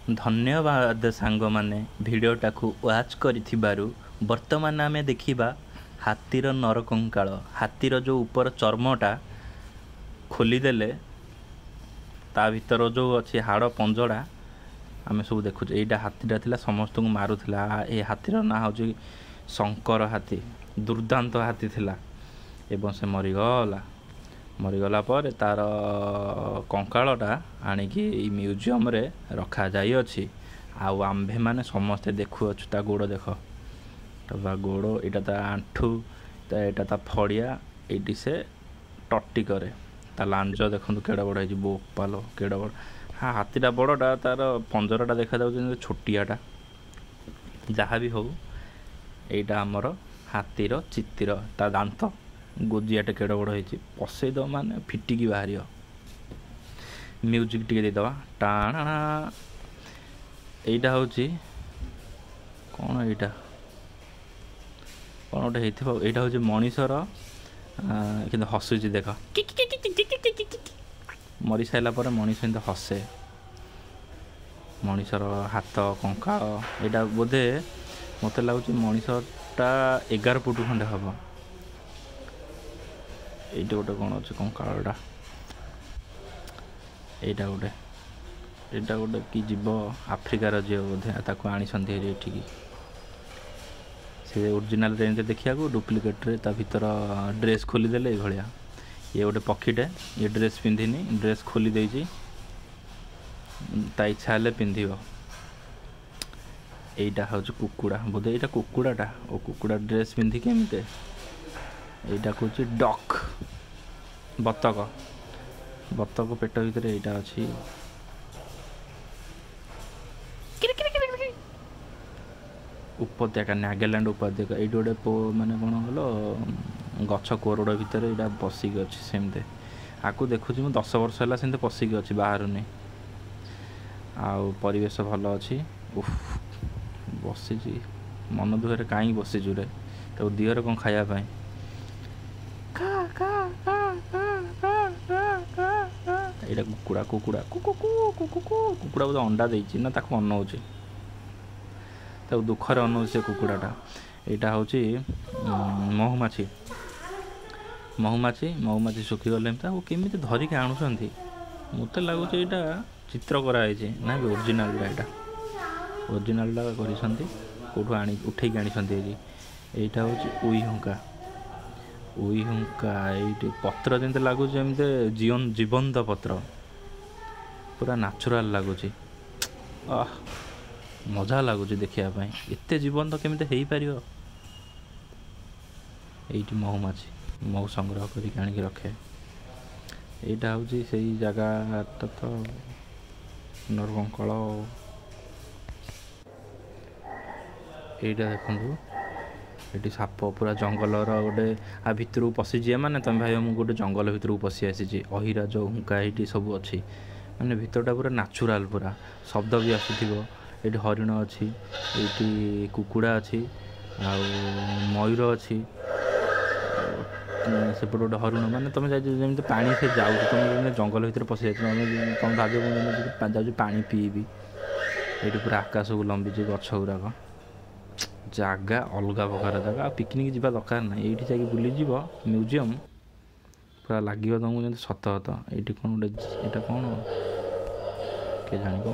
ଧନ୍ୟବାଦ ସାଙ୍ଗମାନେ ଭିଡ଼ିଓଟାକୁ ୱାଚ୍ କରିଥିବାରୁ। ବର୍ତ୍ତମାନ ଆମେ ଦେଖିବା ହାତୀର ନରକଙ୍କାଳ। ହାତୀର ଯେଉଁ ଉପର ଚର୍ମଟା ଖୋଲିଦେଲେ ତା ଭିତର ଯେଉଁ ଅଛି ହାଡ଼ ପଞ୍ଜଡ଼ା ଆମେ ସବୁ ଦେଖୁଛୁ। ଏଇଟା ହାତୀଟା ଥିଲା, ସମସ୍ତଙ୍କୁ ମାରୁଥିଲା। ଏ ହାତୀର ନାଁ ହେଉଛି ଶଙ୍କର ହାତୀ। ଦୁର୍ଦ୍ଦାନ୍ତ ହାତୀ ଥିଲା ଏବଂ ସେ ମରିଗଲା। ମରିଗଲା ପରେ ତାର କଙ୍କାଳଟା ଆଣିକି ଏଇ ମ୍ୟୁଜିୟମରେ ରଖାଯାଇଅଛି। ଆଉ ଆମ୍ଭେମାନେ ସମସ୍ତେ ଦେଖୁଅଛୁ। ତା ଗୋଡ଼ ଦେଖ, ତା ଗୋଡ଼, ଏଇଟା ତା ଆଣ୍ଠୁ, ଏଇଟା ତା ଫଡ଼ିଆ, ଏଇଠି ସେ ଟଟି କରେ। ତା ଲାଞ୍ଜ ଦେଖନ୍ତୁ କେଡ଼େ ବଡ଼ ହେଇଛି, ବୋପାଲୋ କେଡ଼େ ବଡ଼। ହଁ, ହାତୀଟା ବଡ଼ଟା, ତାର ପଞ୍ଜରାଟା ଦେଖାଯାଉଛି ଯେମିତି ଛୋଟିଆଟା। ଯାହା ବି ହଉ, ଏଇଟା ଆମର ହାତୀର ଚିତ୍ର। ତା ଦାନ୍ତ ଗୋଜିଆଟା କେଡ଼େ ବଡ଼ ହେଇଛି, ପଶେଇଦେବ ମାନେ ଫିଟିକି ବାହାରିବ। ମ୍ୟୁଜିକ୍ ଟିକେ ଦେଇଦେବା, ଟାଣା। ଏଇଟା ହେଉଛି କ'ଣ? ଏଇଟା କ'ଣ ଗୋଟେ ହେଇଥିବ। ଏଇଟା ହେଉଛି ମଣିଷର, କିନ୍ତୁ ହସୁଛି ଦେଖ। ମରିସାରିଲା ପରେ ମଣିଷ ଏମିତି ହସେ। ମଣିଷର ହାତ କଙ୍କାଳ ଏଇଟା ବୋଧେ ମୋତେ ଲାଗୁଛି ମଣିଷଟା 11 ଫୁଟ ଖଣ୍ଡେ ହେବ। ଏଇଠି ଗୋଟେ କ'ଣ ଅଛି କଙ୍କାଳଟା। ଏଇଟା ଗୋଟେ, ଏଇଟା ଗୋଟେ କି ଜୀବ, ଆଫ୍ରିକାର ଜୀବ ବୋଧେ। ତାକୁ ଆଣିଛନ୍ତି ହେରି ଏଠିକି। ସେ ଓରିଜିନାଲରେ ଏମିତି ଦେଖିବାକୁ, ଡୁପ୍ଲିକେଟ୍ରେ ତା ଭିତର ଡ୍ରେସ୍ ଖୋଲିଦେଲେ ଏଇଭଳିଆ। ଇଏ ଗୋଟେ ପକ୍ଷୀଟେ, ଇଏ ଡ୍ରେସ୍ ପିନ୍ଧିନି, ଡ୍ରେସ୍ ଖୋଲି ଦେଇଛି, ତା ଇଚ୍ଛା ହେଲେ ପିନ୍ଧିବ। ଏଇଟା ହେଉଛି କୁକୁଡ଼ା ବୋଧେ, ଏଇଟା କୁକୁଡ଼ାଟା। ଓ କୁକୁଡ଼ା ଡ୍ରେସ୍ ପିନ୍ଧିକି ଏମିତି। ଏଇଟା କହୁଛି ଡକ୍, ବତକ। ବତକ ପେଟ ଭିତରେ ଏଇଟା ଅଛି। ଉପତ୍ୟକା, ନାଗାଲ୍ୟାଣ୍ଡ ଉପତ୍ୟକା। ଏଇଠି ଗୋଟେ ମାନେ କ'ଣ କହିଲ, ଗଛ କୋରଡ଼ ଭିତରେ ଏଇଟା ବସିକି ଅଛି ସେମିତି। ଆକୁ ଦେଖୁଛି ମୁଁ 10 ବର୍ଷ ହେଲା, ସେମିତି ପଶିକି ଅଛି, ବାହାରୁନି। ଆଉ ପରିବେଶ ଭଲ ଅଛି। ଉଫ୍, ବସିଛି ମନ ଦୁଃଖରେ। କାହିଁକି ବସିଛୁ ରେ? ତାକୁ ଦିଅରେ କ'ଣ ଖାଇବା ପାଇଁ। ଏଇଟା କୁକୁଡ଼ା, କୁକୁଡ଼ା କୁକୁ କୁକୁ। କୁକୁଡ଼ା ବୋଧେ ଅଣ୍ଡା ଦେଇଛି ନା ତାକୁ ଅନଉଛି, ତାକୁ ଦୁଃଖରେ ଅନଉଛି ସେ କୁକୁଡ଼ାଟା। ଏଇଟା ହେଉଛି ମହୁମାଛି। ମହୁମାଛି, ମହୁମାଛି ଶୁଖିଗଲେ ତାକୁ କେମିତି ଧରିକି ଆଣୁଛନ୍ତି? ମୋତେ ଲାଗୁଛି ଏଇଟା ଚିତ୍ର କରାହେଇଛି ନା ବି ଓରିଜିନାଲଟା। ଏଇଟା ଓରିଜିନାଲଟା କରିଛନ୍ତି, କେଉଁଠୁ ଆଣି ଉଠେଇକି ଆଣିଛନ୍ତି ଏଇଠି। ଏଇଟା ହେଉଛି ଉଇ ହୁଙ୍କା। ଉଇ ହୁଙ୍କା ଏଇଠି ପତ୍ର ଯେମିତି ଲାଗୁଛି ଯେମିତି ଜୀବନ୍ତ ପତ୍ର, ପୁରା ନ୍ୟାଚୁରାଲ୍ ଲାଗୁଛି। ଆଃ, ମଜା ଲାଗୁଛି ଦେଖିବା ପାଇଁ। ଏତେ ଜୀବନ୍ତ କେମିତି ହେଇପାରିବ? ଏଇଠି ମହୁମାଛି ମହୁ ସଂଗ୍ରହ କରିକି ଆଣିକି ରଖେ। ଏଇଟା ହେଉଛି ସେଇ ଜାଗାଟା ତ ନରକଙ୍କଳ। ଏଇଟା ଦେଖନ୍ତୁ, ଏଠି ସାପ ପୁରା ଜଙ୍ଗଲର ଗୋଟେ ଆ ଭିତରକୁ ପଶିଯିବା ମାନେ ତମେ ଭାବିବ ମୁଁ ଗୋଟେ ଜଙ୍ଗଲ ଭିତରକୁ ପଶି ଆସିଛି। ଅହିରାଜ ହୁଙ୍କା ଏଇଠି ସବୁ ଅଛି, ମାନେ ଭିତରଟା ପୁରା ନ୍ୟାଚୁରାଲ୍, ପୁରା ଶବ୍ଦ ବି ଆସୁଥିବ। ଏଇଠି ହରିଣ ଅଛି, ଏଇଠି କୁକୁଡ଼ା ଅଛି, ଆଉ ମୟୂର ଅଛି। ସେପଟେ ଗୋଟେ ହରିଣ, ମାନେ ତମେ ଯାଇଛ ଯେମିତି ପାଣି ସେ ଯାଉଛି, ତମେ ଯେମିତି ଜଙ୍ଗଲ ଭିତରେ ପଶି ଯାଇଛ। ତମେ ଭାବିବ ମୁଁ ଯେମିତି ଯାଉଛି ପାଣି ପିଇବି। ଏଇଠି ପୁରା ଆକାଶକୁ ଲମ୍ବିଛି ଗଛ ଗୁଡ଼ାକ। ଜାଗା ଅଲଗା ପ୍ରକାର ଜାଗା, ଆଉ ପିକନିକ୍ ଯିବା ଦରକାର ନାହିଁ। ଏଇଠି ଯାଇକି ବୁଲିଯିବ ମ୍ୟୁଜିୟମ୍, ପୁରା ଲାଗିବ ତମକୁ ଯେମିତି ସତ ସତ। ଏଇଠି କ'ଣ ଗୋଟେ, ଏଇଟା କ'ଣ କିଏ ଜାଣିବ।